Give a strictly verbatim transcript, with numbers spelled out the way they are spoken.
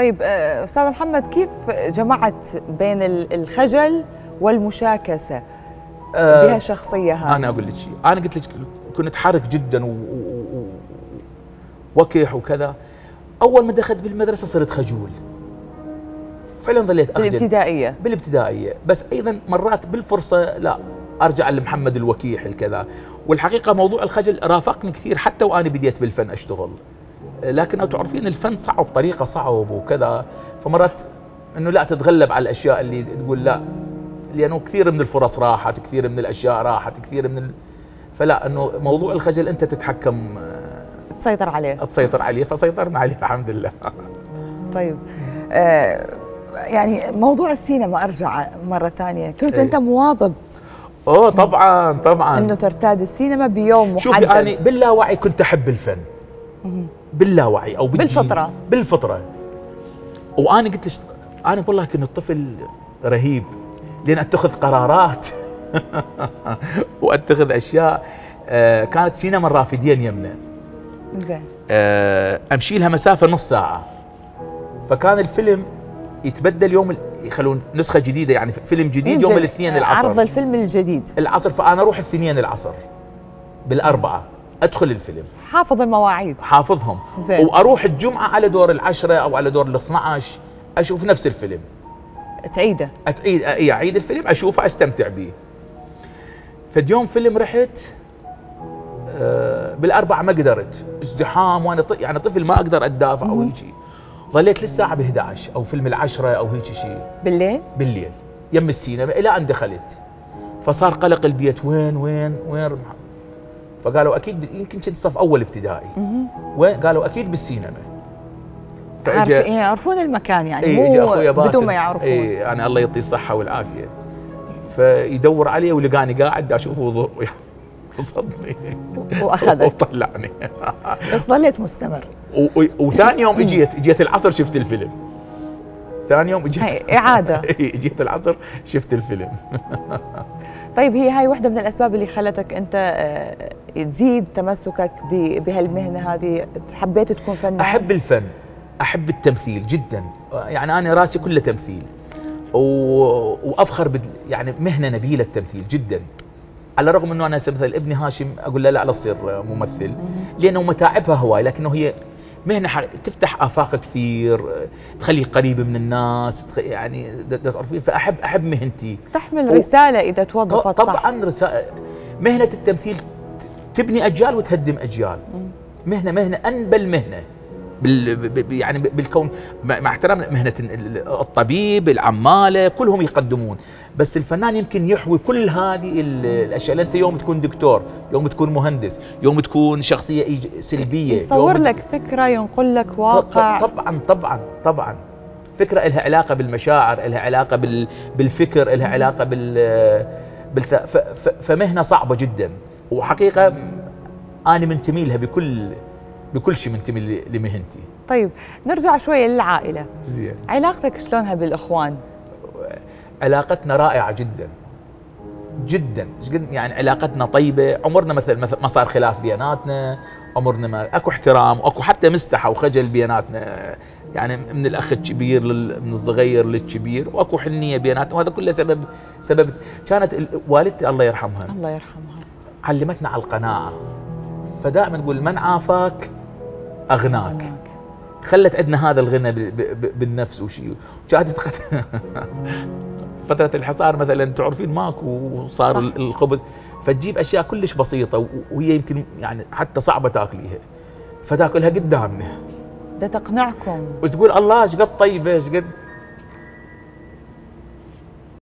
طيب أستاذ محمد، كيف جمعت بين الخجل والمشاكسة بهالشخصية هاي؟ أنا أقول لك شيء، أنا قلت لك كنت حرك جدا ووكح وكذا. أول ما دخلت بالمدرسة صرت خجول. فعلا ظليت أخجل. بالابتدائية؟ بالابتدائية، بس أيضا مرات بالفرصة لا أرجع لمحمد الوكيح الكذا. والحقيقة موضوع الخجل رافقني كثير حتى وأنا بديت بالفن أشتغل. لكن تعرفين الفن صعب بطريقه صعب وكذا، فمرات انه لا تتغلب على الاشياء اللي تقول لا، لانه كثير من الفرص راحت، كثير من الاشياء راحت، كثير من ال... فلا انه موضوع الخجل انت تتحكم، تسيطر عليه تسيطر عليه، فسيطرنا عليه الحمد لله. طيب آه يعني موضوع السينما ارجع مره ثانيه، كنت ايه؟ انت مواظب؟ اوه طبعا طبعا انه ترتاد السينما بيوم محدد. شوفي انا باللاوعي كنت احب الفن باللاوعي او بالفطره بالفطره. وانا قلت لك انا والله كنت طفل رهيب، لان اتخذ قرارات واتخذ اشياء. آه كانت سينما الرافدين يمنا، زين، آه امشي لها مسافه نص ساعه، فكان الفيلم يتبدل يوم، يخلون نسخه جديده يعني فيلم جديد يوم الاثنين العصر، عرض الفيلم الجديد العصر، فانا اروح الاثنين العصر بالاربعه ادخل الفيلم، حافظ المواعيد، حافظهم، زين. واروح الجمعه على دور العشره او على دور الاثنى عشر اشوف نفس الفيلم، تعيده، اتعيد اعيد الفيلم اشوفه استمتع به. فاليوم فيلم رحت آه بالاربعه ما قدرت، ازدحام وانا يعني طفل ما اقدر اتدافع او هيك، ظليت للساعه ب احد عشر او فيلم العشره او هيك شيء بالليل بالليل يم السينما الى ان دخلت. فصار قلق البيت، وين وين وين، فقالوا اكيد يمكن كنت صف اول ابتدائي، وين قالوا اكيد بالسينما. عارفين يعرفون المكان يعني، ايه مو بدون ما يعرفون. اي يعني الله يعطيه الصحه والعافيه. فيدور علي ولقاني قاعد اشوفه صدني واخذك وطلعني. بس ظليت مستمر. وثاني يوم اجيت اجيت العصر شفت الفيلم. ثاني يوم اجيت اعاده اجيت العصر شفت الفيلم. طيب هي هاي واحدة من الأسباب اللي خلتك أنت تزيد تمسكك بهالمهنة هذه، حبيت تكون فنان؟ أحب الفن، أحب التمثيل جدا، يعني أنا راسي كله تمثيل، و... وأفخر بد... يعني مهنة نبيلة التمثيل جدا، على الرغم أنه أنا مثل ابني هاشم أقول له لا لا تصير ممثل، لأنه متاعبها هواي، لكنه هي مهنة حق... تفتح آفاق كثير، تخليك قريب من الناس، يعني تعرفين، فأحب أحب مهنتي، تحمل و... رسالة إذا توظفت صح. طبعا رسالة. مهنة التمثيل تبني أجيال وتهدم أجيال، مهنة مهنة أنبل مهنة بال... يعني بالكون، مع احترام مهنة الطبيب، العمالة، كلهم يقدمون، بس الفنان يمكن يحوي كل هذه الأشياء. أنت يوم تكون دكتور، يوم تكون مهندس، يوم تكون شخصية سلبية، يصور لك فكرة، ينقل لك واقع. طبعا طبعا طبعا فكرة لها علاقة بالمشاعر، لها علاقة بال... بالفكر، لها علاقة بال, بال... ف... ف... فمهنة صعبة جدا، وحقيقة أنا منتمي لها بكل بكل شيء، منتمي لمهنتي. طيب نرجع شوية للعائلة. زين، علاقتك شلونها بالإخوان؟ علاقتنا رائعة جدا جدا، يعني علاقتنا طيبة، عمرنا مثل ما صار خلاف بيناتنا، عمرنا ما اكو احترام، واكو حتى مستحى وخجل بيناتنا، يعني من الاخ الكبير لل... من الصغير للكبير، واكو حنية بيناتنا، وهذا كله سبب سبب كانت والدتي الله يرحمها الله يرحمها علمتنا على القناعة، فدائما نقول من عافاك أغناك، خلت عندنا هذا الغنى بالنفس وشيء. كانت فترة الحصار مثلا تعرفين ماكو، وصار صح. الخبز، فتجيب أشياء كلش بسيطة وهي يمكن يعني حتى صعبة تاكليها، فتاكلها قدامنا، ده تقنعكم، وتقول الله ايش قد طيبة، ايش قد